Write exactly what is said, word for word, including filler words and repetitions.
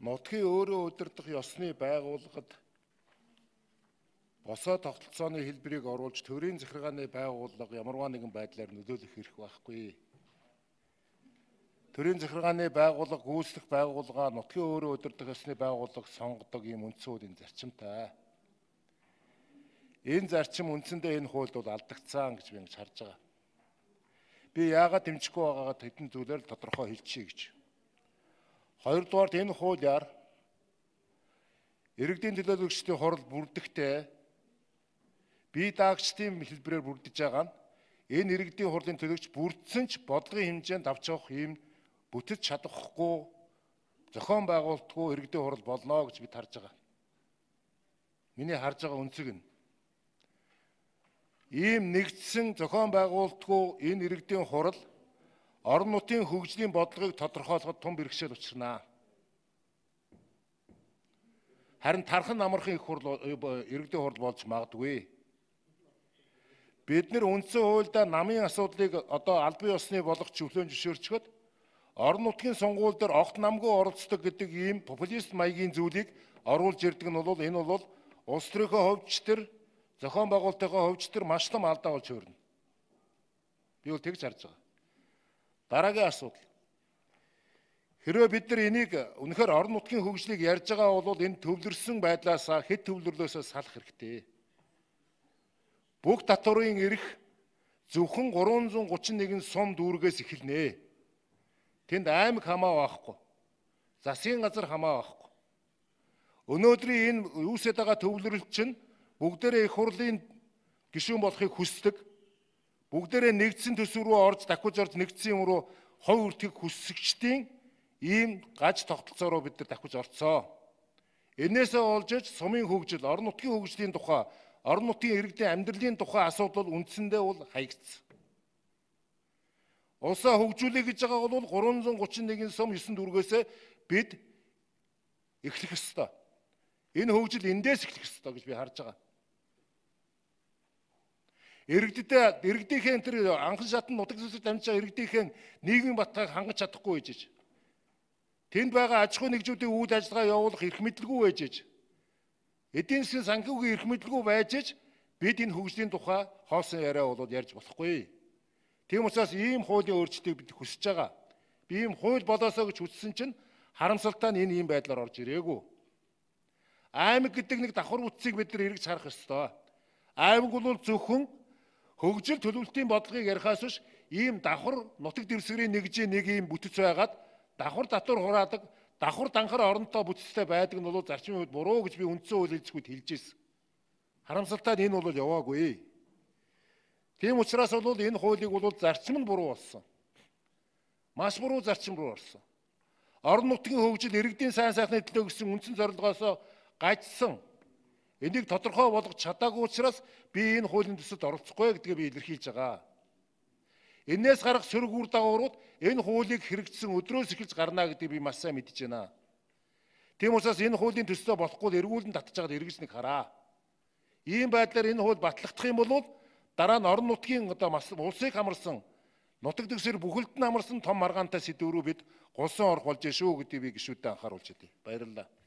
нутгийн өөрөө удирдах ёсны байгууллагад босоо тогтолцооны хэлбэрийг оруулж төрийн захиргааны байгууллага ямарваа нэгэн байдлаар нөлөөлөх эрх байхгүй. Төрийн захиргааны байгууллага гүйцэтгэх байгууллага нутгийн өөрөө удирдах ёсны байгууллага сонгодог ийм үндсэн хуулийн зарчимтай. Энэ зарчим үндсэндээ энэ хуульд бол алдагдсан гэж би ингэж харж байгаа. Би яагаад дэмжихгүй байгаагаа хэдэн зүйлээр тодорхой хэлчихье гэж. Хоёрдугаарт энэ хуулиар иргэдийн төлөөлөгчдийн хурал бүрдэхдээ бие даагчдын хэлбэрээр бүрдэж байгаа нь энэ иргэдийн хурлын төлөөлөгч бүрдсэн ч бодлогын хэмжээнд авч явах ийм бүтэц чадахгүй зохион байгуулалтгүй иргэдийн хурал болно гэж бид харж байгаа. Миний харж байгаа үнцэг нь ийм нэгдсэн зохион байгуулалтгүй энэ иргэдийн хурал орон нутгийн хөгжлийн бодлогыг тодорхойлоход том бэрхшээл учирнаа. Харин тархан амархан их хурал иргэдийн хурал болж магадгүй. Бид нэр үндсэн хуульдаа намын асуудлыг одоо албан ёсны болох чөлөөнд зөвшөөрчгöd орон нутгийн сонгуул дээр огт намгүй оролцдог гэдэг ийм популист маягийн зүйлийг оруулж ирдэг нь бол энэ бол улс төрийнхөө хувьч төр зохион байгуулалтынхаа хувьч төр маш том алдаа болж хөөрнө. Би бол тэгж харж байгаа. Дараагийн асуудал. Хэрвээ бид нар энийг үнэхээр орон нутгийн хөгжлийг ярьж байгаа бол энэ төвлөрсөн байдлаас хэд төвлөрлөөсөө салах хэрэгтэй. Бүх татварын эрх зөвхөн гурван зуун гучин нэгэн сум дүүргээс эхэлнэ. Тэнд аймаг хамаа байхгүй. Засгийн газар хамаа байхгүй. Өнөөдрийн энэ үүсэт байгаа төвлөрөлт чинь бүгдээрээ их хурлын гишүүн болохыг хүсдэг. Бүгдээрээ нэгдсэн төсөв рүү орж дахиж орж нэгдсэн юм руу хой үртгийг хүссэгчдийн ийм гаж тогтолцоо руу бид нар дахиж орцсон. Энээсээ олж иж сумын хөгжил, орон нутгийн хөгжлийн тухай, орон нутгийн иргэдийн амьдралын тухай асуудал үндсэндээ бол хаягдсан. Улсаа хөгжүүлэх гэж байгаа бол гурван зуун гучин нэгэн сум есөн дүүргээс бид эхлэх ёстой. Энэ хөгжил эндээс эхлэх ёстой гэж би харж байгаа. Иргэдэд иргэдийнхээ тэр анхан шатны нутаг зөвсөд дамжиж байгаа иргэдийнхээ нийгмийн баталгааг хангаж чадахгүй байж. Тэнд байгаа аж ахуй нэгжүүдийн үйл ажиллагаа явуулах эрх мэдэлгүй байж. Эдийн засгийн санхүүгийн эрх мэдэлгүй байж бид энэ хөгжлийн тухай хоосон яриа бол ярьж болохгүй. Тийм учраас ийм хуулийн өөрчлөлтийг бид хүсэж байгаа. Би ийм хууль болоосоо гэж хүссэн чинь харамсалтай нь энэ ийм байдлаар орж ирээгүй. Аймаг гэдэг нэг давхар бүтцийг бид нар эргэж харах ёстой. Аймаг бол зөвхөн хөгжил төлөвлөлтийн бодлогыг ярихаас биш ийм давхар нутаг дэвсгэрийн нэгжээ нэг ийм бүтэц байгаад давхар татвар хураадаг, давхар данхар оронтой бүтцтэй байдаг нь бол зарчмын хувьд буруу гэж би үндсэн хууль хэлцгүүд хэлж ирсэн. Харамсалтай нь энэ бол яваагүй. Тийм учраас бол энэ хуулийг бол зарчим нь буруу болсон. Маш буруу зарчим руу орсон. Орон нутгийн хөгжил иргэдийн сайн сайхны төлөө гэсэн үндсэн зорилгоос гажсан. Энийг тодорхой болгож чадаагүй учраас би энэ хуулийн төсөлд оролцохгүй гэдгээ би илэрхийлж байгаа. Энээс гарах сөрөг үр дагаврууд энэ хуулийг хэрэгжсэн өдрөөс эхэлж гарна гэдгийг би маш сайн мэдж байна. Тийм учраас энэ хуулийн төслөө болохгүй эргүүлэн татж байгаад эргэж нэг хараа. Ийм байдлаар энэ хууль батлагдах юм бол дараа нь орон нутгийн одоо маш улсыг хамарсан нутаг дэвсгэр бүхэлд нь хамарсан том маргаантай сэдвүүрөө бид гулсан орох болж шүү гэдгийг би гишүүдэд анхааруулж байна. Баярлалаа.